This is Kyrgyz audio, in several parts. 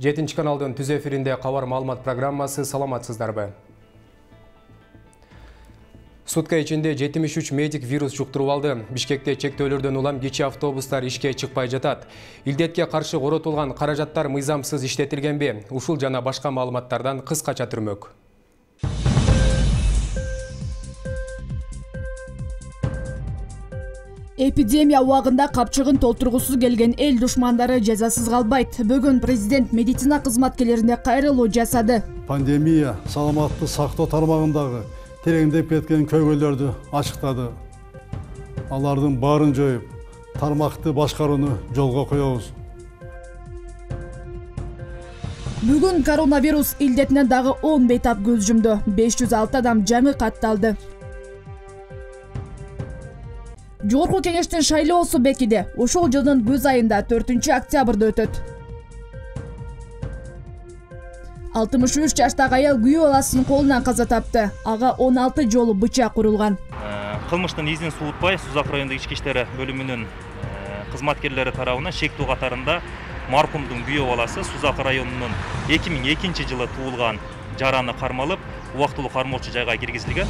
7 каналдын түз эфиринде кабар маалымат программасы. Саламатсыздарбы? Сутка ичинде 73 медик вирус жуктуруп алды. Бишкекте чектөөлөрдөн улам кичи автобустар ишке чыкпай жатат. Илдетке каршы коротулган каражаттар мыйзамсыз иштетилгенби? Ушул жана башка маалыматтардан кыскача түрмөк. Эпидемия убагында капчыгын толтургусу келген эл душмандары жазасыз калбайт. Бүгүн президент медицина кызматкерлерине кайрылуу жасады. Пандемия саламатты сактоо тармагындагы тереңдеп кеткен көйгөйлөрдү ачыктады. Алардын баарын жоюп, тармакты башкарууну жолго коебуз. Бүгүн коронавирус илдетинен дагы 10 бейтап көз жумду. 506 адам жаңы катталды. Жогорку кеңештин шайлоосу бекиди. Ошол жылдын көз айында 4-октябрда өтөт. 63 жаштагы аял күйөө баласынын колунан каза тапты. Ага 16 жолу бычак урулган. Кылмыштын изин суутпай, Сузак райондук ички иштер бөлүмүнүн кызматкерлери тарабынан шектүү катарында маркумдун күйөө баласы Сузак районунун 2002 жылы туулган жараны кармалып, убактылуу кармоочу жайга киргизилген.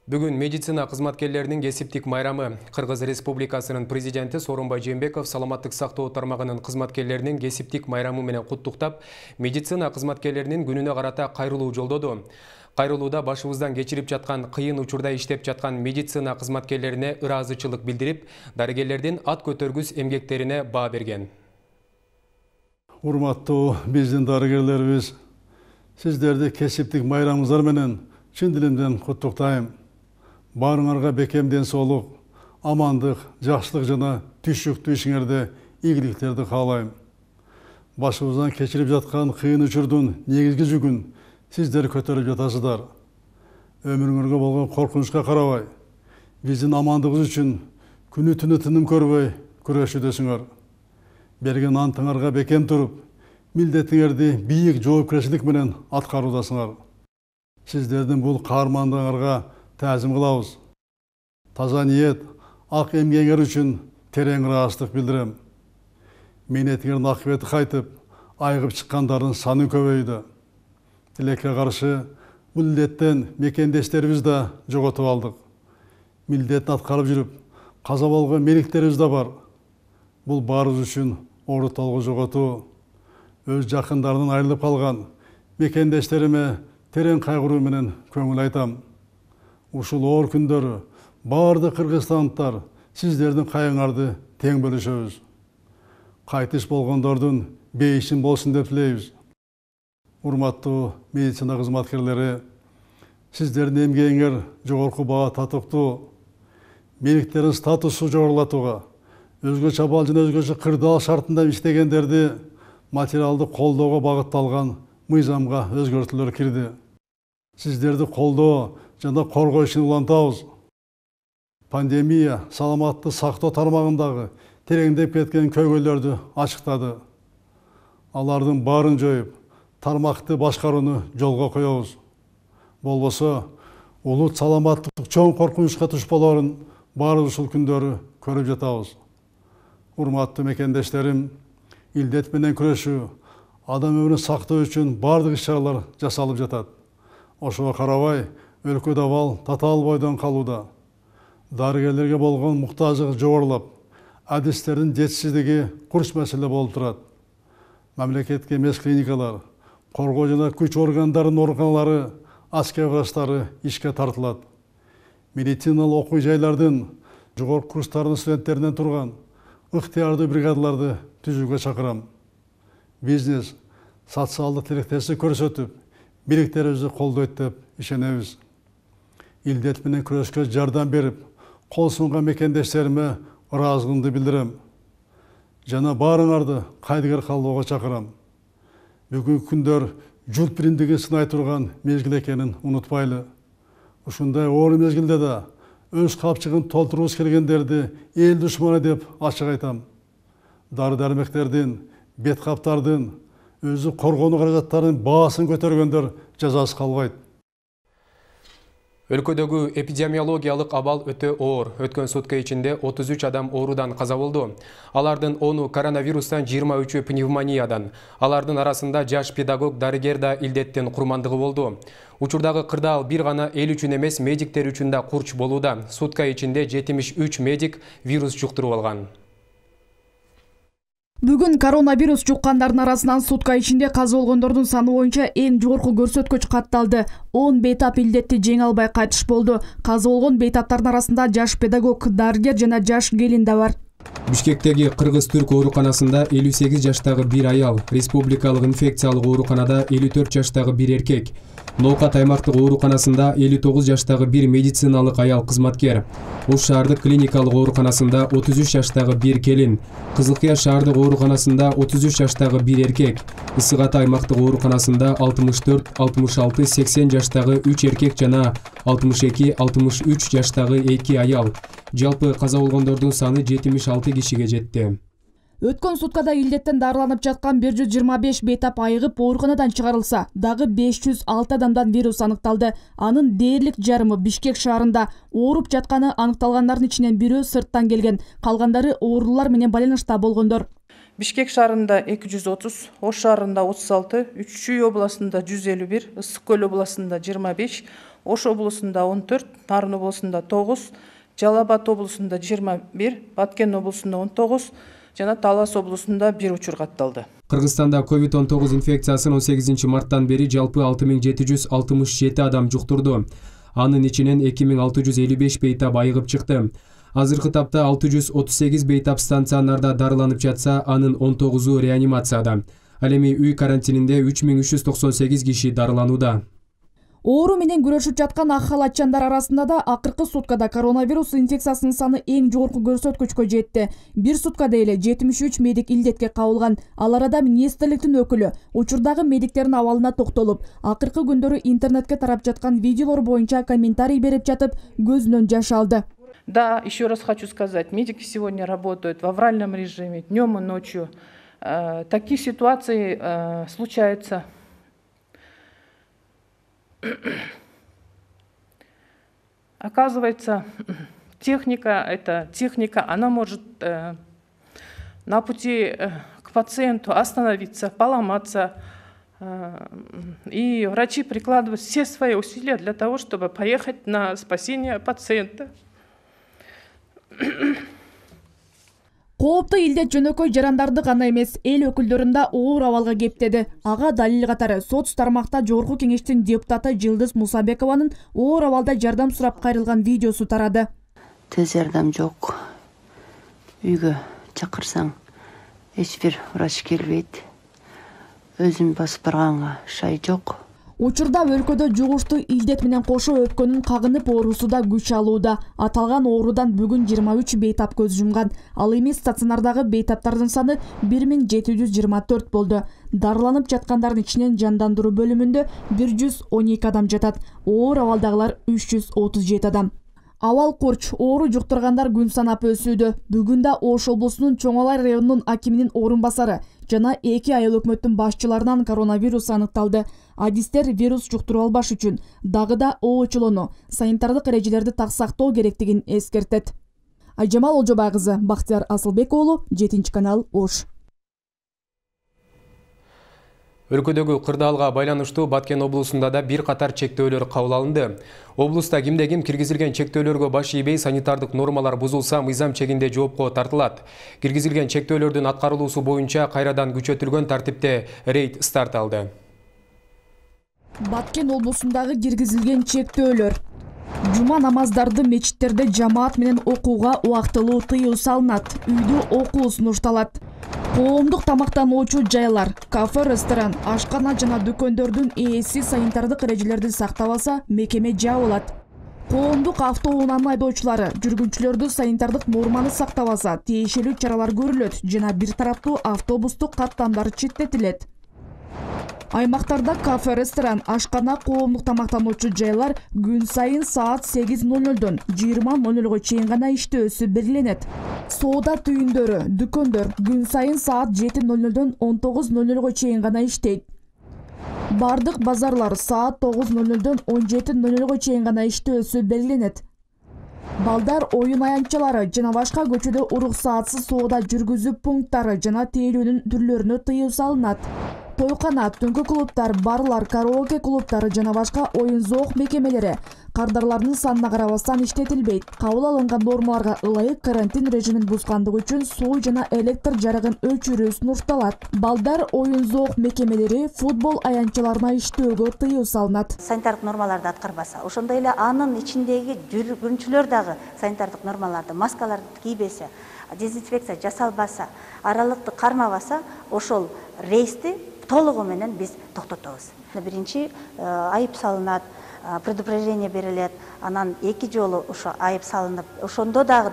Бүгүн медицина кызматкерлеринин кесиптик майрамы. Кыргыз Республикасынын президенти Сооронбай Жээнбеков саламаттык сактоо тармагынын кызматкерлеринин кесиптик майрамы менен куттуктап, медицина кызматкерлеринин күнүнө карата кайрылуу жолдоду. Кайрылууда башыбыздан кечирип жаткан кыйын учурда иштеп жаткан медицина кызматкерлерине ыраазычылык билдирип, дарыгерлердин ат көтөргүс эмгектерине баа берген. Урматтуу биздин дарыгерлерибиз, сиздерди кесиптик майрамыңыздар менен чын дилимден куттуктайм. Баарыңарга бекем ден соолук, амандык, жакшылык жана түшүктүү ишиңерде ийгиликтерди каалайм. Башыбыздан кечирип жаткан кыйын учурдун негизги жүгүн сиздер көтөрүп жатасыздар. Өмүрүңөргө болгон коркунучка карабай, биздин амандыгыбыз үчүн күнү түнү тыным көрбөй күрөшүүдөсүңөр. Берген антыңарга бекем туруп, милдетиңерди бийик жоопкерчилик менен аткаруудасыңар. Сиздердин бул каармандыгыңарга таазим кылабыз. Таза ниет, ак эмгегиңер үчүн терең ыраазычтык билдирем. Мээнетиңердин акыбети кайтып, айыгып чыккандардын саны көбөйдү. Тилекке каршы бул илдеттен мекендештерибиз да жоготуп алдык. Милдетин аткарып жүрүп, каза болгон меликтерибиз да бар. Бул баарыбыз үчүн оор толгу жоготуу. Өз жакындарынан айрылып калган мекендештериме терең кайгыруу менен көңүл айтам. Ушул оор күндөрү баардык кыргызстандыктар сиздердин кайгыңарды тең бөлүшөбүз. Кайтыш болгондордун бейишин болсун деп тилейбиз. Урматтуу медицина кызматкерлери, сиздердин эмгегиңер жогорку баа татыктуу. Меликтердин статусу жогорулатууга, өзгөчө абал жана өзгөчө кырдаал шартында иштегендерди материалдык колдоого багытталган мыйзамга өзгөртүүлөр кирди. Сиздерди колдоо жана коргоо ишин улантабыз. Пандемия саламатты сактоо тармагындагы тереңдеп кеткен көйгөйлөрдү ачыктады. Алардын баарын жоюп, тармакты башкарууну жолго коебуз. Болбосо, улут саламаттык чоң коркунучка туш болоорун баарыбыз ушул күндөрү көрүп жатабыз. Урматтуу мекендештерим, илдет менен күрөшүү, адам өмүрүн сактоо үчүн бардык иш-чаралар жасалып жатат. Ошого карабай, өлкөдө абал татаал бойдон калууда. Дарыгерлерге болгон муктаждык жогорулап, адистердин жетишсиздиги курч маселе болуп турат. Мамлекетке эмес клиникалар, коргоо жана күч органдарынын ооруканалары, аскер врачтары ишке тартылат. Медициналык окуу жайлардын жогорку курстарынын студенттеринен турган ыктыярдуу бригадаларды түзүүгө чакырам. Бизнес социалдык тилектестик көрсөтүп, бийликтерибизди колдойт деп ишенебиз. Илдет менен күрөшкө жардам берип, кол сунган мекендештериме ыраазычылыгымды билдирем. Жана баарыңарды кайдыгер калбоого чакырам. Бүгүнкү күндөр журт биримдигин сынай турган мезгил экенин унутпайлы. Ушундай оор мезгилде да өз капчыгын толтургубуз келгендерди эл душманы деп ачык айтам. Дары-дармектердин, бет каптардын, өзү коргонуу каражаттарынын баасын көтөргөндөр жазасыз калбайт. Өлкөдөгү эпидемиологиялык абал өтө оор. Өткөн сутка ичинде 33 адам оорудан каза болду. Алардын 10-у коронавирустан, 23-ü пневмониядан. Алардын арасында жаш педагог дарыгер да илдеттин курмандыгы болду. Учурдагы кырдаал бир гана эл үчүн эмес, медиктер үчүн да курч болууда. Сутка ичинде 73 медик вирус жуктуруп алган. Бүгүн коронавирус жуккандардын арасынан сутка ичинде каза болгондордун саны боюнча эң жогорку көрсөткүч катталды. 10 бейтап илдетти жеңе албай кайтыш болду. Каза болгон бейтаптардын арасында жаш педагог, дарыгер жана жаш келин да бар. Бишкектеги Кыргыз-Түрк ооруканасында 58 жаштагы бир аял, республикалык инфекциялык ооруканада 54 жаштагы бир эркек, Ноокат аймактык ооруканасында 59 жаштагы бир медициналык аял кызматкер, Ош шаардык клиникалык ооруканасында 33 жаштагы бир келин, Кызылкыя шаардык ооруканасында 33 жаштагы бир эркек, Ысык Ата аймактык ооруканасында 64, 66, 80 жаштагы 3 эркек жана 62, 63 жаштагы 2 аял. Жалпы каза болгондордун саны 76 кишиге жетти. Өткөн суткада илдеттен дарыланып жаткан 125 бейтап айыгып ооруканадан чыгарылса, дагы 506 адамдан вирус аныкталды. Анын дээрлик жарымы Бишкек шаарында. Ооруп жатканы аныкталгандардын ичинен бирөө сырттан келген, калгандары оорулар менен байланышта болгондор. Бишкек шаарында 230, Ош шаарында 36, Үч-Чүй областында 151, Ысык Көл областында 25, Ош областында 14, Нарын областында 9, Жалал Абад областында 21, Баткен областында 19, жана Талас областында 1 учур катталды. Кыргызстанда COVID-19 инфекциясын 18 марттан бери жалпы 6767 адам жуктурду. Анын ичинен 2655 бейтап айыгып чыкты. Азыркы тапта 638 бейтап станционарда дарыланып жатса, анын 19-у реанимацияда. Ал эми үй карантининде 3398 киши дарыланууда. Оору менен күрөшүп жаткан ак халатчандар арасында да акыркы суткада коронавирус инфекциясынын саны эң жогорку көрсөткүчкө жетти. Бир суткада эле 73 медик илдетке кабылган. Ал арада министрликтин өкүлү учурдагы медиктердин абалына токтолуп, акыркы күндөрү интернетке тарап жаткан видеолор боюнча комментарий берип жатып, көзүнөн жаш алды. Да, еще раз хочу сказать, медики сегодня работают в авральном режиме, днем и ночью. Такие ситуации случаются. Оказывается, техника, она может на пути к пациенту остановиться, поломаться. И врачи прикладывают все свои усилия для того, чтобы поехать на спасение пациента. Кооптуу илдет жөнөкөй жарандарды гана эмес, эл өкүлдөрүн да оор абалга кептеди. Ага далил катары сот тармакта жогорку кеңештин депутаты Жылдыз Мусабекованын оор абалда жардам сурап кайрылган видеосу тарады. Тез жардам жок. Үйгө чакырсаң эч бир врач келбейт. Өзүм басып барганга шай жок. Учурда өлкөдө жугуштуу илдет менен кошо өпкөнүн кагынып оорусу да күч алууда. Аталган оорудан бүгүн 23 бейтап көз жумган. Ал эми стационардагы бейтаптардын саны 1724 болду. Дарыланып жаткандардын ичинен жандандыруу бөлүмүндө 112 адам жатат. Оор абалдагылар 337 адам. Абал курч, оору жуктургандар күн санап өсүүдө. Бүгүн да Ош облусунун Чоң Алай районунун акиминин орун басары жана 2 айыл өкмөттүн башчыларынан коронавирус аныкталды. Адистер вирус жуктуруп албаш үчүн дагы да оочулоону, санитардык эрежелерди так сактоо керектигин эскертет. Айжамал Олжобай кызы, Бактияр Асылбек уулу, 7 канал, Ош. Өлкөдөгү кырдаалга байланыштуу Баткен облусунда да бир катар чектөөлөр кабыл алынды. Облуста кимде-ким киргизилген чектөөлөргө баш ийбей, санитардык нормалар бузулса, мыйзам чегинде жоопко тартылат. Киргизилген чектөөлөрдүн аткарылуусу боюнча кайрадан күчөтүлгөн тартипте рейд старт алды. Баткен облусундагы киргизилген чектөөлөр. Жума намаздарды мечиттерде жамаат менен окууга убактылуу тыюу салынат. Үйдө окуу сунушталат. Коомдук тамактануучу жайлар, кафе, ресторан, ашкана жана дүкөндөрдүн ээси санитардык эрежелерди сактабаса, мекеме жабылат. Коомдук автоунаанын айдоочулары жүргүнчүлөрдү санитардык норманы сактабаса, тиешелүү чаралар көрүлөт жана бир тараптуу автобустук каттамдар четтетилет. Аймактарда кафе, ресторан, ашкана, коомдук тамактануучу жайлар күн сайын саат 8:00-дон 20:00-га чейин гана иштөөсү белгиленет. Соода түйүндөрү, дүкөндөр күн сайын саат 7:00-дон 19:00-га чейин гана иштейт. Бардык базарлар саат 9:00дөн 17:00 чейин гана иштөөсү белгиленет. Балдар оюн аянтчалары жана башка көчөдө уруксаатсыз соода жүргүзүү пункттары жана тейлөөнүн түрлөрүнө тыюу салынат. Тойкана, түнкү клубтар, барлар, караоке клубтары жана башка оюн-зоок мекемелери кардарлардын санына карабастан иштетилбейт. Кабыл алынган нормаларга ылайык карантин режимин бузгандыгы үчүн суу жана электр жарыгын өчүрүү сунушталат. Балдар оюн-зоок мекемелери, футбол аянтчаларына иштөөгө тыюу салынат. Санитардык нормаларды аткарбаса, ошондой эле анын ичиндеги жүргүнчүлөр дагы санитардык нормаларды, маскаларды кийбесе, дезинфекция жасалбаса, аралыкты кармабаса, ошол рейсти толугу менен биз токтотобуз. Биринчи айып салынат, предупреждение берилет, анан 2 жолу ошо айып салынып, ошондо дагы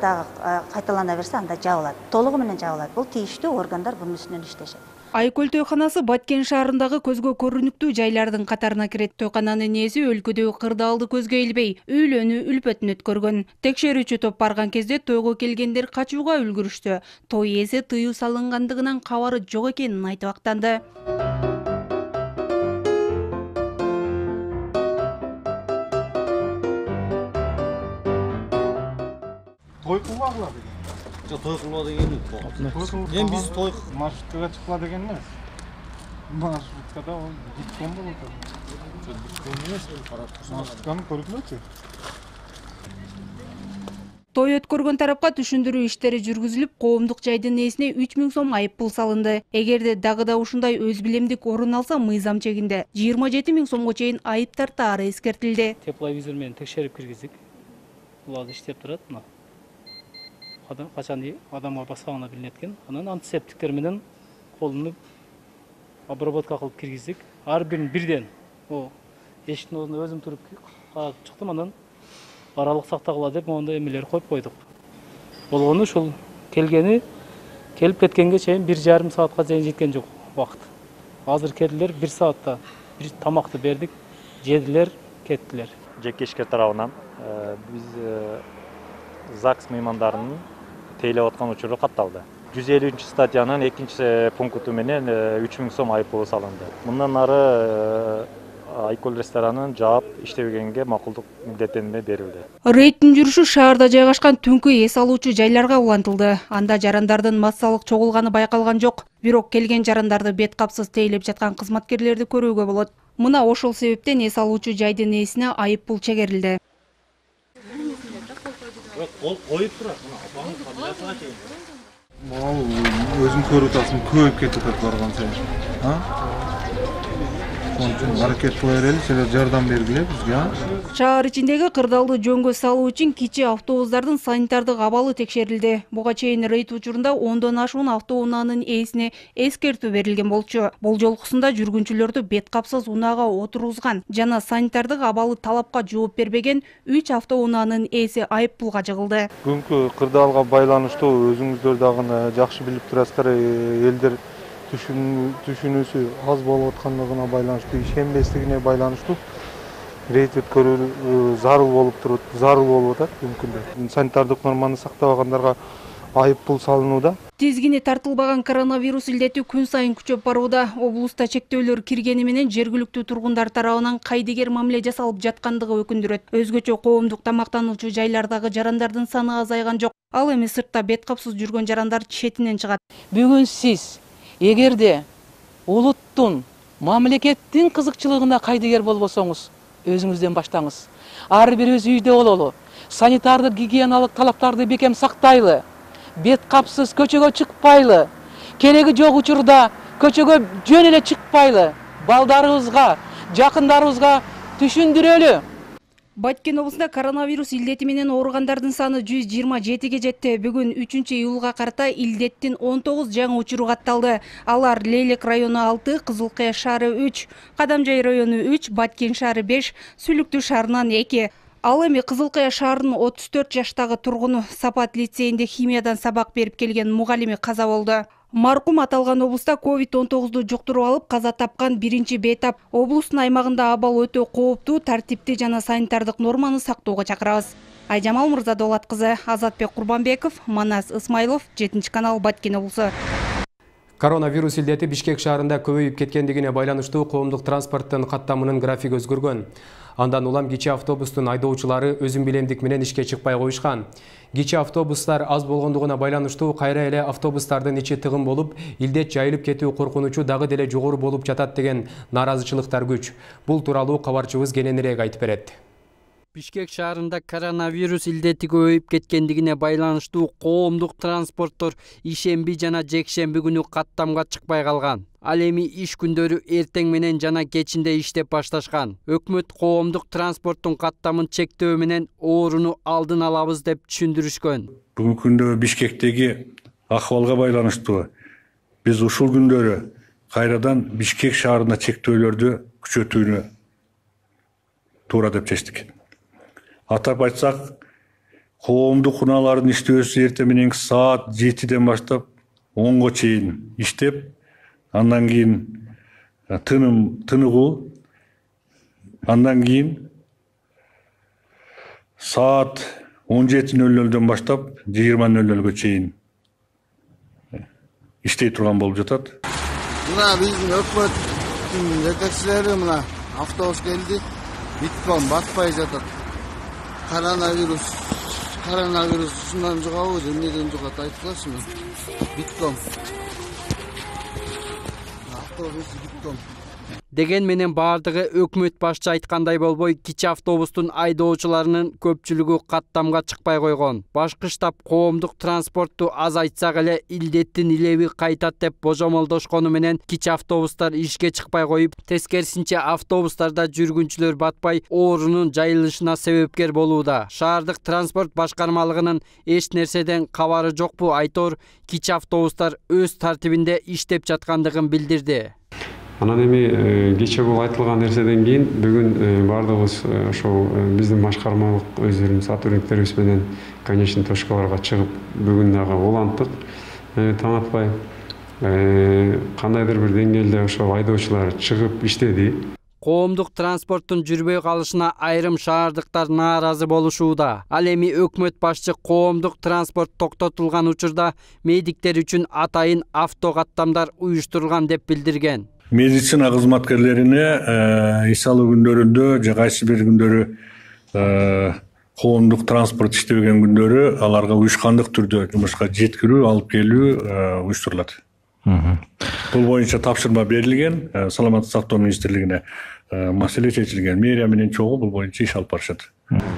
кайталана берсе, анда жабылат. Толугу менен жабылат. Бул тийиштүү органдар бунун үстүнөн иштешет. Айкөл тойканасы Баткен шаарындагы көзгө көрүнүктүү жайлардын катарына кирет. Тойкананын ээси өлкөдөгү кырдаалды көзгө илбей, үйлөнүү үлпөтүн өткөргөн. Текшерүүчү топ барган кезде тойго келгендер качууга үлгүрүштү. Той ээси тыюу салынгандыгынан кабары жок экенин айтып актанды. Той кылбагыла деген. Жок, той кылба деген эмес. Эми биз той маршруткага чыкпа деген эмес. Маршруткада диктон болот. Диктон эмес, карап турсаң, маршрутканы көргүлөчү. Той өткөргөн тарапка түшүндүрүү иштери жүргүзүлүп, коомдук жайдын ээсине 3000 сом айып пул салынды. Эгерде дагы да ушундай өз билемдик орун алса, мыйзам чегинде 27 000 сомго чейин айып тартаары эскертилди. Тепловизор менен текшерип киргиздик. Булар иштеп турат, мына. Качан адамга басканына билинет экен. Анан антисептиктер менен колунуп обработка кылып киргиздик. Ар бирин бирден. Эшиктин ордуна өзүм туруп чыктым, анан аралык сактагыла деп мондай эмелер коюп койдук. Болгону ушул келип кеткенге чейин 1,5 саатка чейин жеткен жок убакыт. Азыр келдилер 1 саатта бир тамакты бердик, жедилер, кеттилер. Жеке ишкер тарабынан биз ЗАГС меймандарынын тейлеп аткан учуру катталды. 153-статьянын 2-пункту менен 3000 сом айып пулу салынды. Мындан ары Айкөл ресторанын жаап иштебегенге макулдук милдеттенме берилди. Рейдтин жүрүшү шаарда жайгашкан түнкү эс алуучу жайларга улантылды. Анда жарандардын массалык чогулганы байкалган жок. Бирок келген жарандарды бет капсыз тейлеп жаткан кызматкерлерди көрүүгө болот. Мына ошол себептен эс алуучу жайдын ээсине айып пул чегерилди. Коюп турат, өзүң көрүп атасың, көбөйүп кетип атат барган сайын. Аракет кыла берели, силер жардам бергиле бизге. Шаар ичиндеги кырдаалды жөнгө салуу үчүн кичи автобустардын санитардык абалы текшерилди. Буга чейин рейд учурунда 10дон ашуун автоунаанын ээсине эскертүү берилген болчу. Болжолкусунда жүргүнчүлөрдү бет капсыз унаага отургузган жана санитардык абалы талапка жооп бербеген 3 автоунаанын ээси айып пулга жыгылды. Бүгүнкү кырдаалга байланыштуу өзүңүздөр дагы жакшы билип турасыздар, элдер түшүнүүсү аз болуп аткандыгына байланыштуу, ишенбестигине байланыштуу рейд өткөрүү зарыл болуп атат мүмкүндө. Санитардык норманы сактабагандарга айып пул салынууда. Тизгини тартылбаган коронавирус илдети күн сайын күчөп барууда. Облуста чектөөлөр киргени менен жергиликтүү тургундар тарабынан кайдыгер мамиле жасалып жаткандыгы өкүндүрөт. Өзгөчө коомдук тамактануучу жайлардагы жарандардын саны азайган жок. Ал эми сыртта бет капсыз жүргөн жарандар четинен чыгат. Бүгүн сиз эгерде улуттун, мамлекеттин кызыкчылыгына кайдыгер болбосоңуз, өзүңүздөн баштаңыз. Ар бирибиз үйдө бололу, санитардык гигиеналык талаптарды бекем сактайлы, бет капсыз көчөгө чыкпайлы, кереги жок учурда көчөгө жөн эле чыкпайлы, балдарыбызга, жакындарыбызга түшүндүрөлү. Баткен облусунда коронавирус илдети менен ооругандардын саны 127ге жетти. Бүгүн 3-июлга карата илдеттин 19 жаңы учуру катталды. Алар Лейлек району 6, Кызылкая шаары 3, Кадамжай району 3, Баткен шаары 5, Сүлүктүү шаарынан 2. Ал эми Кызылкая шаарынын 34 жаштагы тургуну Сапат лицейинде химиядан сабак берип келген мугалими каза болду. Маркум аталган облуста COVID-19 жуктуруп алып каза тапкан биринчи бейтап. Облустун аймагында абал өтө кооптуу, тартипти жана санитардык норманы сактоого чакырабыз. Айжамал Мырзадолат кызы, Азатбек Курбанбеков, Манас Исмайлов, 7 канал, Баткен облусу. Коронавирус илдети Бишкек шаарында көбөйүп кеткендигине байланыштуу коомдук транспорттун каттамынын графиги өзгөргөн. Андан улам кичи автобустун айдоочулары өзүн билемдик менен ишке чыкпай коюшкан. Кичи автобустар аз болгондугуна байланыштуу кайра эле автобустардын ичи тыгын болуп, илдет жайылып кетүү коркунучу дагы деле жогору болуп жатат деген нааразычылыктар күч. Бул тууралуу кабарчыбыз кененирээк айтып берет. Бишкек шаарында коронавирус илдети көбөйүп кеткендигине байланыштуу коомдук транспорттор ишемби жана жекшемби күнү каттамга чыкпай калган. Ал эми иш күндөрү эртең менен жана кечинде иштеп башташкан. Өкмөт коомдук транспорттун каттамын чектөө менен ооруну алдын алабыз деп түшүндүрүшкөн. Бүгүнкү күндө Бишкектеги акыбалга байланыштуу биз ушул күндөрү кайрадан Бишкек шаарына чектөөлөрдү күчөтүүнү туура деп чечтик. Атап айтсак, коомдук унаалардын иштөөсү эртең мененки саат 7-ден баштап 10-го чейин иштеп, андан кийин тыныгуу, андан кийин саат 17:00-дөн баштап 20:00-гө чейин иштей турган болуп жатат. Мына биздин өкмөттүн жетекчилери мына автобус келди, битком батпай жатат. Коронавирус ушундан жугабы, эмнеден жугат айтылачы мен. Битком. Автобус битком. Деген менен бардыгы өкмөт башчы айткандай болбой, кичи автобустун айдоочуларынын көпчүлүгү каттамга чыкпай койгон. Башкы штаб коомдук транспортту азайтсак эле илдеттин илеби кайтат деп божомолдошкону менен кичи автобустар ишке чыкпай коюп, тескерисинче автобустарда жүргүнчүлөр батпай оорунун жайылышына себепкер болууда. Шаардык транспорт башкармалыгынын эч нерседен кабары жокпу айтор, кичи автобустар өз тартибинде иштеп жаткандыгын билдирди. Анан эми кече бул айтылган нерседен кийин бүгүн бардыгыбыз ошол биздин башкармалык өздөрүбүз сотрудниктерибиз менен конечный точкаларга чыгып бүгүн дагы уланттык. Таң атпай кандайдыр бир деңгээлде ошол айдоочулар чыгып иштеди. Коомдук транспорттун жүрбөй калышына айрым шаардыктар нааразы болушууда. Ал эми өкмөт башчы коомдук транспорт токтотулган учурда медиктер үчүн атайын автокаттамдар уюштурулган деп билдирген. Медицина кызматкерлерине иш алуу күндөрүндө же кайсы бир күндөрү коомдук транспорт иштебеген күндөрү аларга уюшкандык түрдө жумушка жеткирүү, алып келүү уюштурулат. Бул боюнча тапшырма берилген, Саламаттык сактоо министрлигине маселе чечилген. Мэрия менен чогуу бул боюнча иш алып барышат.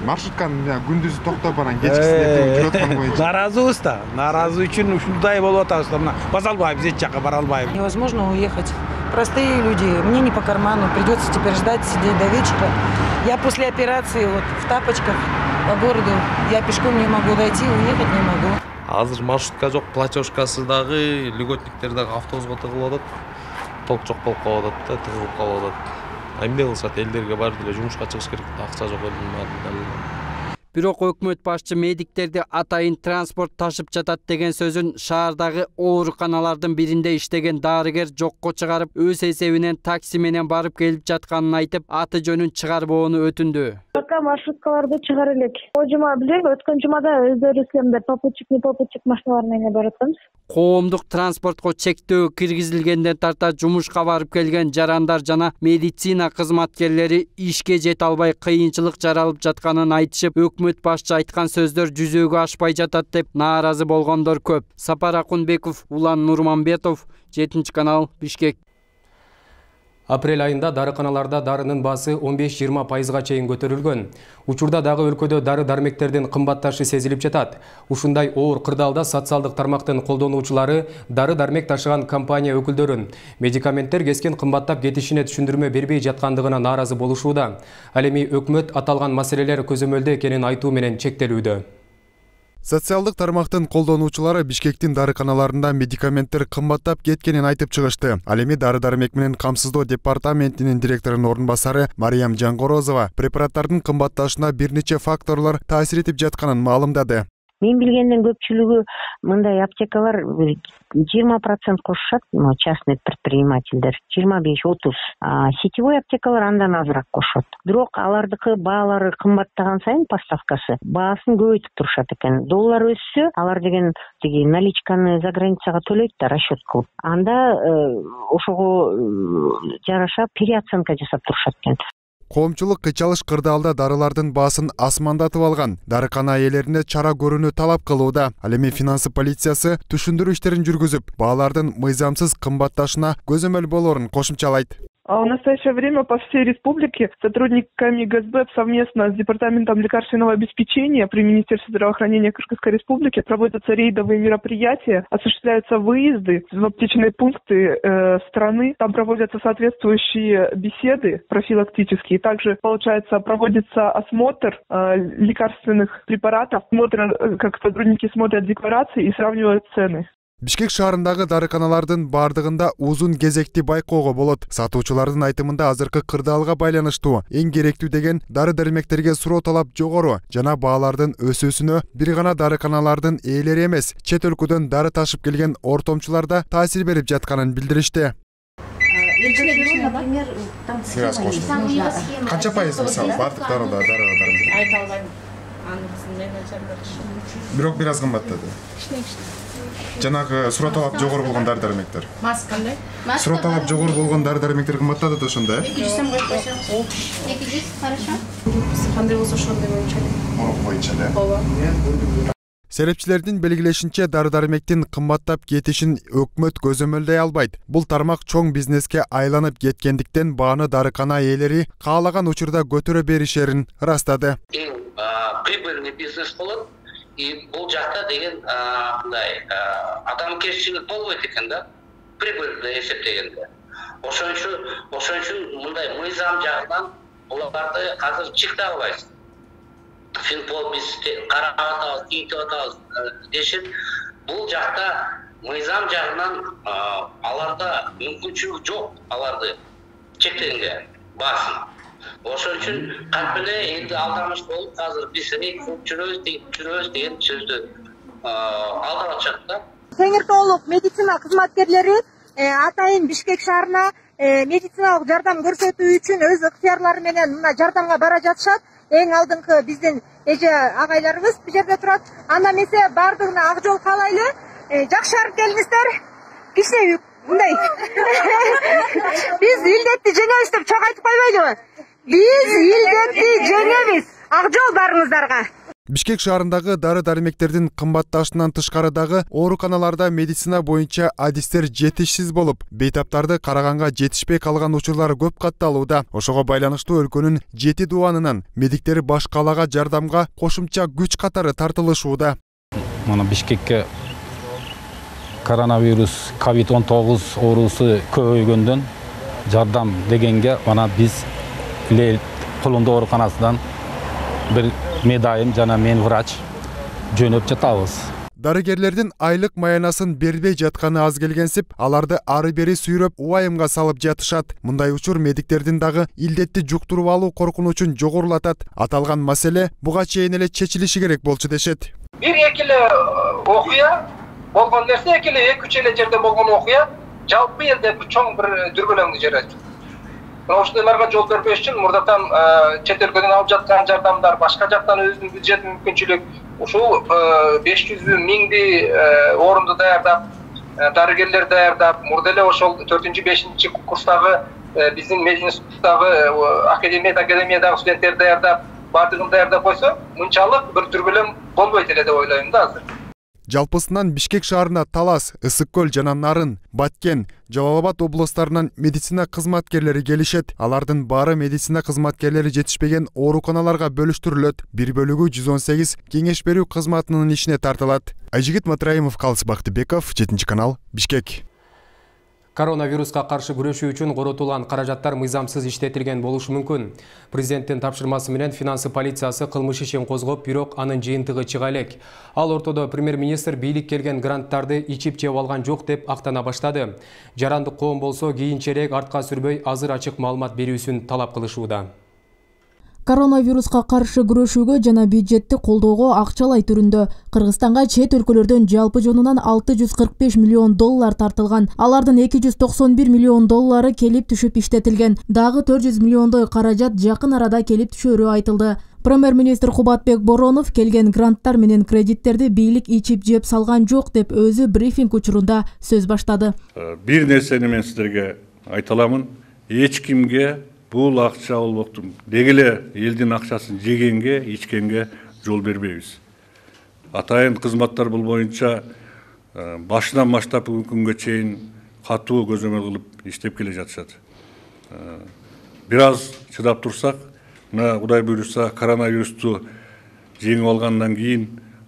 Маршрутканы күндүзү токтоп баран кечкисинде жүрөт аткан боюнча. Нааразыбыз да. Нааразы үчүн ушундай болуп атабыз. Баса албайбыз, эч жакка бара албайбыз. Невозможно уехать. Простые люди, мне не по карману, придется теперь ждать, сидеть до вечера. Я после операции вот в тапочках по городу, я пешком не могу дойти, уехать не могу. Азыр маршрутка жок, платежкасы дагы, льготниктер дагы автобуска тыгылып атат. Толк жок болуп калып атат да, тыгылып калып атат. Эмне кылышат, элдерге баары деле жумушка чыгыш керек, акча жок элдин. Бирок өкмөт башчы медиктерди атайын транспорт ташып жатат деген сөзүн шаардагы ооруканалардын биринде иштеген дарыгер жокко чыгарып, өз эсебинен такси менен барып келип жатканын айтып, аты жөнүн чыгарбоону өтүндү. Пока маршруткаларды чыгар элек. Жума билем, өткөн жумада өздөрү силемдер попутчик, не попутчик машиналар менен барып атабыз. Коомдук транспортко чектөө киргизилгенден тарта жумушка барып келген жарандар жана медицина кызматкерлери ишке жете албай кыйынчылык жаралып жатканын айтышып, өкмөт башчы айткан сөздөр жүзөгө ашпай жатат деп нааразы болгондор көп. Сапар Акунбеков, Улан Нурманбетов, 7 канал, Бишкек. Апрель айында дарыканаларда дарынын баасы 15-20%га чейин көтөрүлгөн. Учурда дагы өлкөдө дары-дармектердин кымбатташы сезилип жатат. Ушундай оор кырдаалда социалдык тармактын колдонуучулары дары-дармек ташыган компания өкүлдөрүн медикаменттер кескен кымбаттап кетишине түшүндүрмө бербей жаткандыгына нааразы болушууда. Ал эми өкмөт аталган маселелер көзөмөлдө экенин айтуу менен чектелүүдө. Социалдык тармактын колдонуучулары Бишкектин дарыканаларында медикаменттер кымбаттап кеткенин айтып чыгышты. Ал эми дары-дармек менен камсыздоо департаментинин директорунун орун басары Мариям Жангорозова препараттардын кымбатташына бир нече факторлор таасир этип жатканын маалымдады. Мен билгенден көпчүлүгү мындай аптекалар 20% кошушат, частный предпринимательдер, 25-30. Сетевой аптекалар андан азыраак кошот. Бирок алардыкы баалары кымбаттаган сайын поставкасы, баасын көбөйтүп турушат экен. Доллар өссө, алар деген тиги наличканы за границага төлөйт да расчет кылып. Анда ошого жараша переоценка жасап турушат экен. Коомчулук кычалыш кырдаалда дарылардын баасын асмандатып алган. Дарыкана ээлерине чара көрүүнү талап кылууда. Ал эми финансы полициясы түшүндүрүү иштерин жүргүзүп, баалардын мыйзамсыз кымбатташына көзөмөл болоорун кошумчалайт. В настоящее время по всей республике сотрудниками ГСБ совместно с Департаментом лекарственного обеспечения при Министерстве здравоохранения Кыргызской Республики проводятся рейдовые мероприятия, осуществляются выезды в аптечные пункты страны, там проводятся соответствующие беседы профилактические, также, получается, проводится осмотр лекарственных препаратов, как сотрудники смотрят декларации и сравнивают цены. Бишкек шаарындагы дарыканалардын бардыгында узун кезекти байкоого болот. Сатуучулардын айтымында азыркы кырдаалга байланыштуу эң керектүү деген дары-дармектерге суроо талап жогору жана баалардын өсүүсүнө бир гана дарыканалардын ээлери эмес, чет өлкөдөн дары ташып келген ортомчулар да таасир берип жатканын билдиришти. Канча пайыз мисалы бардык дарыга айта албайм. Бирок бир аз кымбаттады. Жанагы суроо талап жогору болгон дары-дармектер. Маскандай? Суроо талап жогору болгон дары-дармектер кымбаттады да ошондо, 200 сом коюп койсоңуз. 200, хорошо. Кандай болсо ошондой боюнча эле. Ооба. Серепчилердин белгилешинче дары-дармектин кымбаттап кетишин өкмөт көзөмөлдөй албайт. Бул тармак чоң бизнеске айланып кеткендиктен бааны дарыкана ээлери каалаган учурда көтөрө беришерин ырастады. Прибыльный бизнес болот. И бул жакта деген адамгерчилик болбойт экен да, прибыльно эсептегенде. Ошон үчүн мындай мыйзам жагынан буларды азыр чыктай албайсыз. Финпол биз карап атабыз, кийинтип атабыз дешет. Бул жакта мыйзам жагынан аларда мүмкүнчүлүк жок, аларды чектегенге баасын. Ошон үчүн кантпеле элди алдамыш болуп, азыр биз жүрөбүз деген сөздү алдап атышат да. Теңир тоолук медицина кызматкерлери атайын Бишкек шаарына медициналык жардам көрсөтүү үчүн өз ыктыярлары менен мына жардамга бара жатышат. Эң алдыңкы биздин эже агайларыбыз бул жерде турат. Анда эмесе бардыгына ак жол каалайлы. Жакшырып келиңиздер. Кичине мындай. Биз илдетти жеңебиз деп чоң айтып койбойлубу? Биз илдетти жеңебиз. Ак жол барыңыздарга. Бишкек шаарындагы дары-дармектердин кымбатташынан тышкарыдагы ооруканаларда медицина боюнча адистер жетишсиз болуп, бейтаптарды караганга жетишпей калган учурлар көп катталууда. Ошого байланыштуу өлкөнүн 7 дубанынан медиктери баш калаага жардамга кошумча күч катары тартылышууда. Мына Бишкекке коронавирус COVID-19 оорусу көбөйгөндөн жардам дегенге мана биз Кулунду ооруканасынан бир медайым жана мен врач жөнөп жатабыз. Дарыгерлердин айлык маянасын бербей жатканы аз келгенсип, аларды ары бери сүйрөп уайымга салып жатышат. Мындай учур медиктердин дагы илдетти жуктуруп алуу коркунучун жогорулатат. Аталган маселе буга чейин эле чечилиши керек болчу дешет. Бир-эки эле окуя болгон нерсе, эки эле 2-3 эле жерде болгон окуя жалпы элде чоң бир дүрбөлөңдү жаратат. Ошондойлорго жол бербеш үчүн мурдатан чет өлкөдөн алып жаткан жардамдар, башка жактан өзүнүн бюджет мүмкүнчүлүк, ушул 500.000 орунду даярдап, дарыгерлер даярдап, мурда эле ошол 4-5 курстагы биздин мединституттагы академиядагы студенттер даярдап, бардыгын даярдап койсо, мынчалык бир дүрбөлөң болбойт эле деп ойлойм да азыр. Жалпысынан Бишкек шаарына Талас, Ысык көл жана Нарын, Баткен, Жалал Абад областарынан медицина кызматкерлери келишет. Алардын баары медицина кызматкерлери жетишпеген ооруканаларга бөлүштүрүлөт. Бир бөлүгү 118 кеңеш берүү кызматынын ишине тартылат. Айжигит Матраимов, Калыс Бактыбеков, 7 канал, Бишкек. Коронавируска каршы күрөшүү үчүн коротулган каражаттар мыйзамсыз иштетилген болушу мүмкүн. Президенттин тапшырмасы менен финансы полициясы кылмыш ишин козгоп, бирок анын жыйынтыгы чыга элек. Ал ортодо премьер-министр бийлик келген гранттарды ичип жеп алган жок деп актана баштады. Жарандык коом болсо кийинчерээк артка сүрбөй азыр ачык маалымат берүүсүн талап кылышууда. Коронавируска каршы күрөшүүгө жана бюджетти колдоого акчалай түрүндө Кыргызстанга чет өлкөлөрдөн жалпы жонунан $645 миллион тартылган. Алардын $291 миллион келип түшүп иштетилген. Дагы 400 миллиондой каражат жакын арада келип түшөрү айтылды. Премьер-министр Кубатбек Боронов келген гранттар менен кредиттерди бийлик ичип жеп салган жок деп өзү брифинг учурунда сөз баштады. Бир нерсени мен сиздерге айта аламын. Эч кимге бул акча болбокту. Дегеле элдин акчасын жегенге, ичкенге жол бербейбиз. Атайын кызматтар бул боюнча башынан баштап бүгүнкү күнгө чейин катуу көзөмөл кылып иштеп келе жатышат. Бир аз чыдап турсак, мына Кудай буйруса коронавирусту жеңип алгандан кийин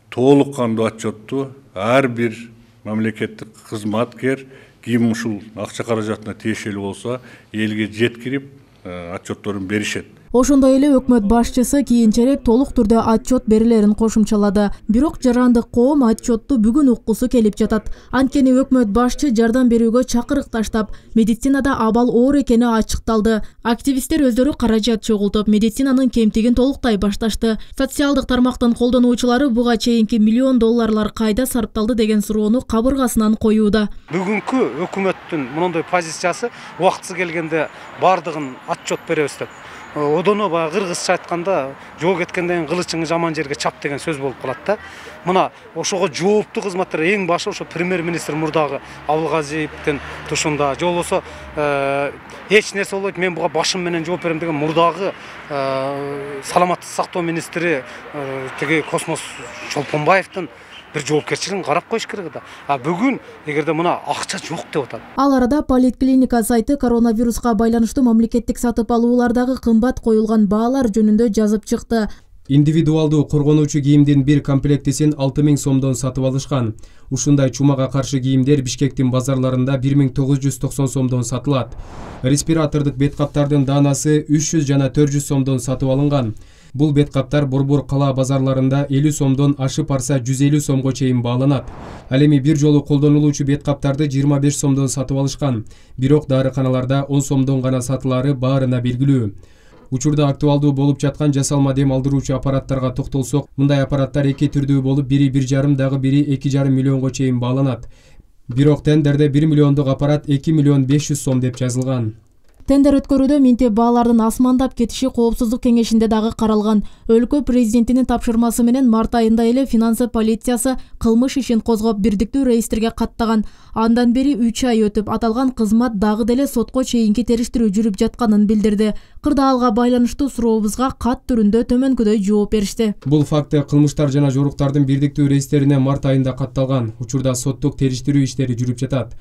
толук кандуу отчетту ар бир мамлекеттик кызматкер ким ушул акча каражатына тиешелүү болсо элге жеткирип отчетторун беришет. Ошондой эле өкмөт башчысы кийинчерээк толук түрдө отчет берилерин кошумчалады. Бирок жарандык коом отчетту бүгүн уккусу келип жатат. Анткени өкмөт башчы жардам берүүгө чакырык таштап, медицинада абал оор экени ачыкталды. Активисттер өздөрү каражат чогултуп, медицинанын кемтигин толуктай башташты. Социалдык тармактын колдонуучулары буга чейинки $1 миллион кайда сарпталды деген суроону кабыргасынан коюуда. Бүгүнкү өкмөттүн мондой позициясы убактысы келгенде бардыгын отчет беребиз деп. Одоно баягы кыргызча айтканда жол кеткенден кылычыңы жаман жерге чап деген сөз болуп калат да. Мына ошого жооптуу кызматтар эң башы ошо премьер-министр мурдагы Абылгазиевдин тушунда, же болбосо эч нерсе болбойт, мен буга башым менен жооп берем деген мурдагы саламаттык сактоо министри теги Космос Чолпонбаевдин бир жоопкерчилигин карап коюш керек да. А бүгүн эгерде мына акча жок деп атат. Ал арада Политклиника сайты коронавируска байланыштуу мамлекеттик сатып алуулардагы кымбат коюлган баалар жөнүндө жазып чыкты. Индивидуалдуу коргонуучу кийимдин бир комплектисин 6000 сомдон сатып алышкан. Ушундай чумага каршы кийимдер Бишкектин базарларында 1990 сомдон сатылат. Респиратордук бет каптардын даанасы 300 жана 400 сомдон сатып алынган. Бул бет каптар борбор кала базарларында 50 сомдон ашып барса 150 сомго чейин бааланат. Ал эми бир жолу колдонулуучу бет каптарды 25 сомдон сатып алышкан. Бирок дарыканаларда 10 сомдон гана сатылары баарына белгилүү. Учурда актуалдуу болуп жаткан жасалма дем алдыруучу аппараттарга токтолсок, мындай аппараттар эки түрдүү болуп, бири 1,5, дагы бири 2,5 миллионго чейин бааланат. Бирок тендерде 1 миллиондук аппарат 2 миллион 500 сом деп жазылган. Тендер өткөрүүдө минтеп баалардын асмандап кетиши коопсуздук кеңешинде дагы каралган. Өлкө президентинин тапшырмасы менен март айында эле финансы полициясы кылмыш ишин козгоп бирдиктүү реестрге каттаган. Андан бери 3 ай өтүп, аталган кызмат дагы деле сотко чейинки териштирүү жүрүп жатканын билдирди. Кырдаалга байланыштуу сурообузга кат түрүндө төмөнкүдөй жооп беришти. Бул факты кылмыштар жана жоруктардын бирдиктүү реестрине март айында катталган. Учурда соттук териштирүү иштери жүрүп жатат.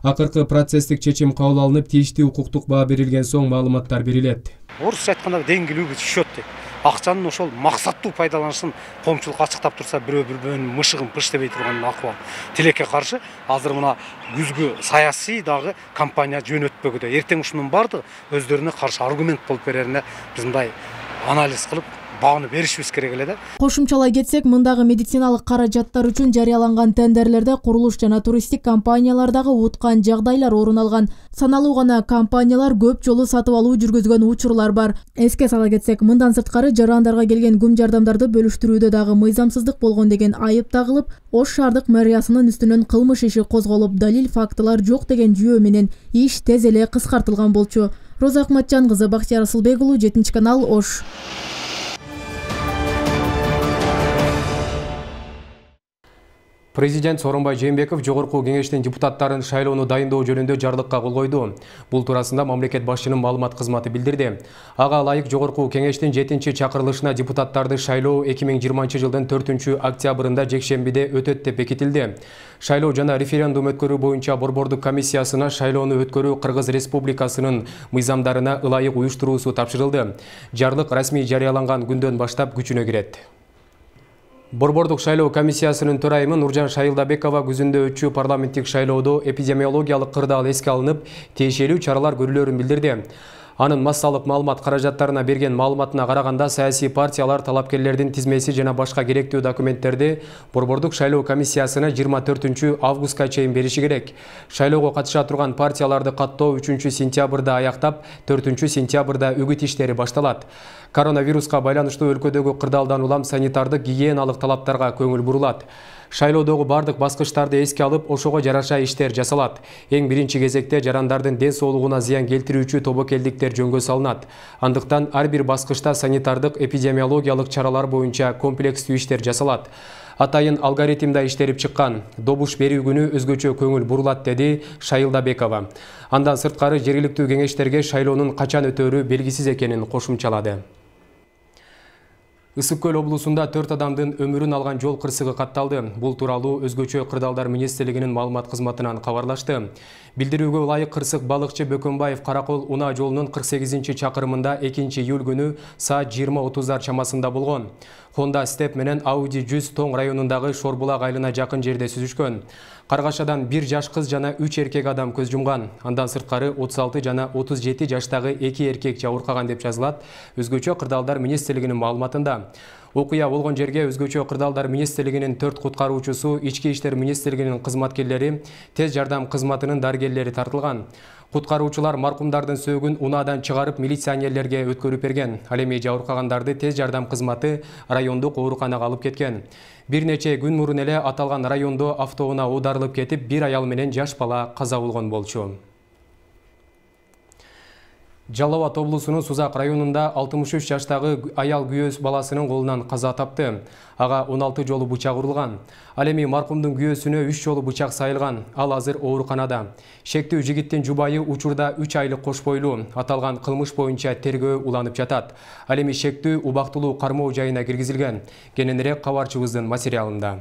Акыркы процесстик чечим кабыл алынып, тийиштүү укуктук баа берилген соң маалыматтар берилет. Орусча айтканда деңгилүү түшөт дейт. Акчанын ошол максаттуу пайдаланышын коомчулук ачыктап турса, бирөөнүн мышыгын пыштебей турган акыбал. Тилекке каршы азыр мына күзгү саясий дагы компания жөнөтпөгүдө. Эртең ушунун бардыгы өздөрүнө каршы аргумент болуп берерине биз мындай анализ кылып бааны беришибиз керек эле да. Кошумчалай кетсек, мындагы медициналык каражаттар үчүн жарыяланган тендерлерде курулуш жана туристтик компаниялардагы уткан жагдайлар орун алган. Саналуу гана компаниялар көп жолу сатып алуу жүргүзгөн учурлар бар. Эске сала кетсек, мындан сырткары жарандарга келген күм жардамдарды бөлүштүрүүдө дагы мыйзамсыздык болгон деген айып тагылып, Ош шаардык мэриясынын үстүнөн кылмыш иши козголуп, далил фактылар жок деген жүйө менен иш тез эле кыскартылган болчу. Роза Акматжан кызы, Бактияр Асылбек уулу, 7-канал, Ош. Президент Сооронбай Жээнбеков жогорку кеңештин депутаттарын шайлоону дайындоо жөнүндө жарлыкка кол койду. Бул туурасында мамлекет башчынын маалымат кызматы билдирди. Ага ылайык жогорку кеңештин 7-чакырылышына депутаттарды шайлоо 2020-жылдын 4-октябрында жекшембиде өтөт деп бекитилди. Шайлоо жана референдум өткөрүү боюнча борбордук комиссиясына шайлоону өткөрүү Кыргыз Республикасынын мыйзамдарына ылайык уюштуруусу тапшырылды. Жарлык расмий жарыяланган күндөн баштап күчүнө кирет. Борбордук шайлоо комиссиясынын төрайымы Нуржан Шайылдабекова күзүндө өтчү парламенттик шайлоодо эпидемиологиялык кырдаал эске алынып, тиешелүү чаралар көрүлөрүн билдирди. Анын массалык маалымат каражаттарына берген маалыматына караганда саясий партиялар талапкерлердин тизмеси жана башка керектүү документтерди Борбордук шайлоо комиссиясына 24 августка чейин бериши керек. Шайлоого катыша турган партияларды каттоо 3 сентябрда аяктап, 4 сентябрда үгүт иштери башталат. Коронавируска байланыштуу өлкөдөгү кырдаалдан улам санитардык гигиеналык талаптарга көңүл бурулат. Шайлоодогу бардык баскычтарды эске алып, ошого жараша иштер жасалат. Эң биринчи кезекте жарандардын ден соолугуна зыян келтирүүчү тобокелдиктер жөнгө салынат. Андыктан ар бир баскычта санитардык эпидемиологиялык чаралар боюнча комплекстүү иштер жасалат. Атайын алгоритмда иштелип чыккан. Добуш берүү күнү өзгөчө көңүл бурулат, деди Шайылдабекова. Андан сырткары жергиликтүү кеңештерге шайлоонун качан өтөөрү белгисиз экенин кошумчалады. Ысык-Көл облусунда 4 адамдын өмүрүн алган жол кырсыгы катталды. Бул тууралуу өзгөчө кырдаалдар министрлигинин маалымат кызматынан кабарлашты. Билдирүүгө ылайык кырсык балыкчы Бөкөнбаев Каракол Унаа жолунун 48-чакырымында 2-июль күнү саат 20:30 чамасында болгон. Honda Step менен Audi 100 Тоң районундагы Шорбулак айылына жакын жерде сүзүшкөн. Каргашадан 1 жаш кыз жана 3 эркек адам көз жумган. Андан сырткары 36 жана 37 жаштагы 2 эркек жабыркаган деп жазылат өзгөчө кырдаалдар министрлигинин маалыматында. Окуя болгон жерге өзгөчө кырдаалдар министрлигинин 4 куткаруучусу, Ички иштер министрлигинин кызматкерлери, тез жардам кызматынын дарыгерлери тартылган. Куткаруучулар маркумдардын сөөгүн унаадан чыгарып милиционерлерге өткөрүп берген. Ал эми жабыркагандарды тез жардам кызматы райондук ооруканага алып кеткен. Бир нече күн мурун эле аталган райондо автоунаа оодарылып кетип, бир аял менен жаш бала каза болгон болчу. Жалал Абад облусунун Сузак районунда 63 жаштагы аял күйөөс баласынын колунан каза тапты. Ага 16 жолу бычак урулган. Ал эми маркумдун күйөөсүнө 3 жолу бычак сайылган. Ал азыр ооруканада. Шектүү жигиттин жубайы учурда 3 айлык кош бойлуу. Аталган кылмыш боюнча тергөө уланып жатат. Ал эми шектүү убактылуу кармоо жайына киргизилген. Кененирээк кабарчыбыздын материалында.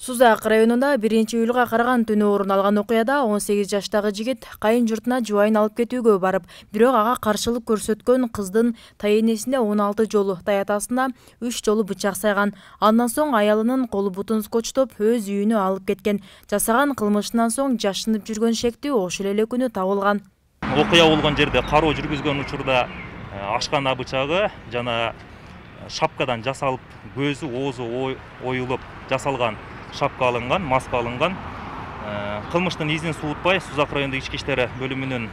Сузак районунда 1-июлга караган түнү орун алган окуяда 18 жаштагы жигит кайын журтуна жубайын алып кетүүгө барып, бирок ага каршылык көрсөткөн кыздын тайэнесине 16 жолу, таятасына 3 жолу бычак сайган. Андан соң аялынын колу бутун скотчтоп өз үйүнө алып кеткен. Жасаган кылмышынан соң жашынып жүргөн шектүү ошол эле күнү табылган. Окуя болгон жерде кароо жүргүзгөн учурда ашкана бычагы жана шапкадан жасалып, көзү, оозу оюлуп жасалган шапка алынган, маска алынган. Кылмыштын изин суутпай Сузак райондук ички иштер бөлүмүнүн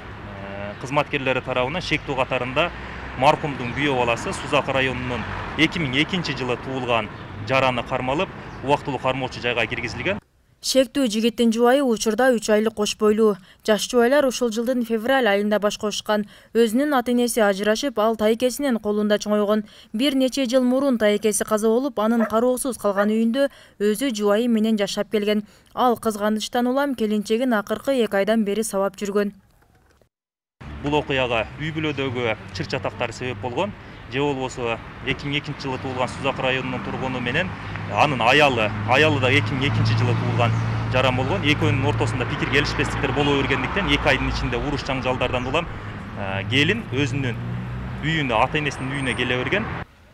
кызматкерлери тарабынан шектүү катарында маркумдун күйөө баласы Сузак районунун 2002 жылы туулган жараны кармалып, убактылуу кармоочу жайга киргизилген. Шектүү жигиттин жубайы учурда 3 айлык кош бойлуу. Жаш жубайлар ушул жылдын февраль айында баш кошкан. Өзүнүн ата-энеси ажырашып, ал тайкесинин колунда чоңойгон. Бир нече жыл мурун тайкеси каза болуп, анын кароосуз калган үйүндө өзү жубайы менен жашап келген. Ал кызганычтан улам келинчегин акыркы 2 айдан бери сабап жүргөн. Бул окуяга үй бүлөдөгү чыр чатактар себеп болгон. Же болбосо 2002 жылы туулган Сузак районунун тургуну менен анын аялы да 2002 жылы туулган жаран болгон. Экөөнүн ортосунда пикир келишпестиктер боло бергендиктен 2 айдын ичинде уруш жаңжалдардан улам келин өзүнүн үйүнө, ата-энесинин үйүнө келе берген.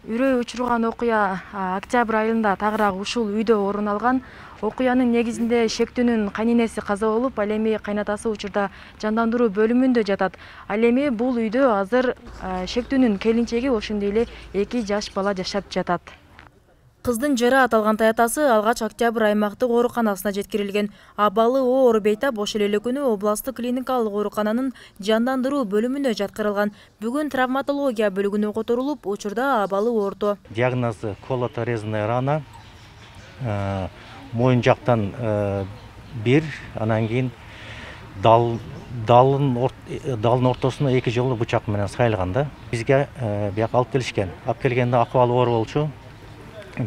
Үрөй учурган окуя октябрь айында тагыраак ушул үйдө орун алган. Окуянын негизинде шектүүнүн кайненеси каза болуп, ал эми кайнатасы учурда жандандыруу бөлүмүндө жатат. Ал эми бул үйдө азыр шектүүнүн келинчеги ошондой эле 2 жаш бала жашап жатат. Кыздын жара аталган таятасы алгач октябрь аймактык ооруканасына жеткирилген. Абалы оор бейтап ошол эле күнү областык клиникалык оорукананын жандандыруу бөлүмүнө жаткырылган. Бүгүн травматология бөлүгүнө которулуп, учурда абалы орто. Диагнозу колото-резная рана, моюн жактан 1, анан кийин далдын ортосуна 2 жолу бычак менен сайылган да. Бизге бияка алып келишкен. Алып келгенде акыбалы оор болчу.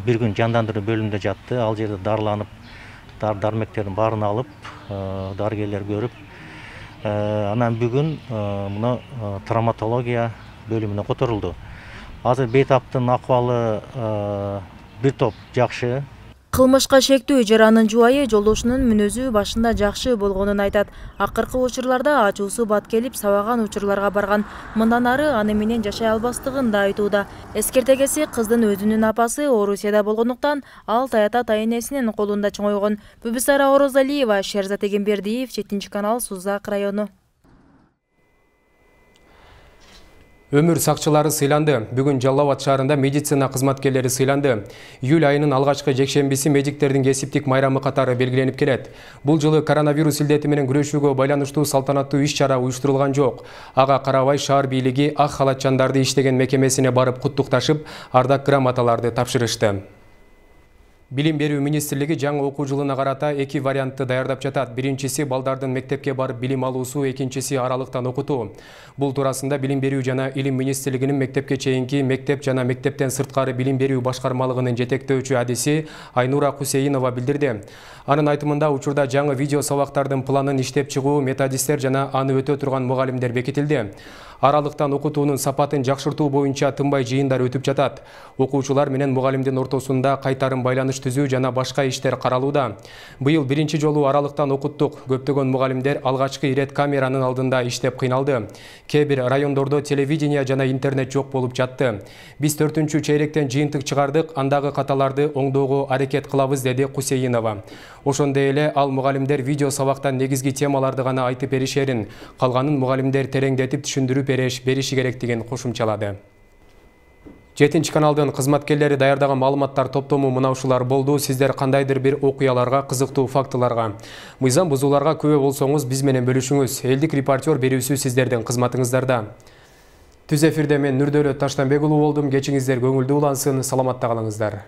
Bir gün jandandыруу bölümünde жатты. Ал жерде дарыланып, дармектердин баарын алып, дарыгерлер көрүп, анан бүгүн мына травматология бөлүмүнө которулду. Азыр бейтаптын акыбалы бир топ жакшы. Кылмышка шектүү жаранын жубайы жолдошунун мүнөзү башында жакшы болгонун айтат. Акыркы учурларда ачуусу бат келип, сабаган учурларга барган. Мындан ары аны менен жашай албастыгын да айтууда. Эскертегеси кыздын өзүнүн апасы Орусияда болгондуктан ал таята тайэнесинин колунда чоңойгон. Бүбүсара Орозалиева, Шерзат Эгембердиев, 7 канал, Сузак району. Өмүр сакчылары сыйланды. Бүгүн Жалал Абад шаарында медицина кызматкерлери сыйланды. Июль айынын алгачкы жекшембиси медиктердин кесиптик майрамы катары белгиленип келет. Бул жылы коронавирус илдети менен күрөшүүгө байланыштуу салтанаттуу иш-чара уюштурулган жок. Ага карабай шаар бийлиги ак халатчандарды иштеген мекемесине барып куттукташып, ардак грамоталарды тапшырышты. Билим берүү министрлиги жаңы окуу жылына карата эки вариантты даярдап жатат. Биринчиси балдардын мектепке барып билим алуусу, экинчиси аралыктан окутуу. Бул туурасында Билим берүү жана Илим министрлигинин мектепке чейинки мектеп жана мектептен сырткары билим берүү башкармалыгынын жетектөөчү адиси Айнура Кусейинова билдирди. Анын айтымында учурда жаңы видео сабактардын планын иштеп чыгуу, методисттер жана аны өтө турган мугалимдер бекитилди. Аралыктан окутуунун сапатын жакшыртуу боюнча тынбай жыйындар өтүп жатат. Окуучулар менен мугалимдин ортосунда кайтарым байланыш түзүү жана башка иштер каралууда. Быйыл биринчи жолу аралыктан окуттук. Көптөгөн мугалимдер алгачкы ирет камеранын алдында иштеп кыйналды. Кээ бир райондордо телевидение жана интернет жок болуп жатты. Биз 4-чү чейректен жыйынтык чыгардык, андагы каталарды оңдоого аракет кылабыз, деди Кусейинова. Ошондой эле ал мугалимдер видео сабактан негизги темаларды гана айтып беришерин, калганын мугалимдер тереңдетип түшүндүрүп бериши керектигин кошумчалады. 7 каналдын кызматкерлери даярдаган маалыматтар топтому мына ушулар болду. Сиздер кандайдыр бир окуяларга, кызыктуу фактыларга, мыйзам бузууларга күбө болсоңуз биз менен бөлүшүңүз. Элдик репортер берүүсү сиздердин кызматыңыздарда. Түз эфирде мен Нурдөлөт Таштанбек уулу болдум. Кечиңиздер көңүлдүү улансын, саламатта калыңыздар.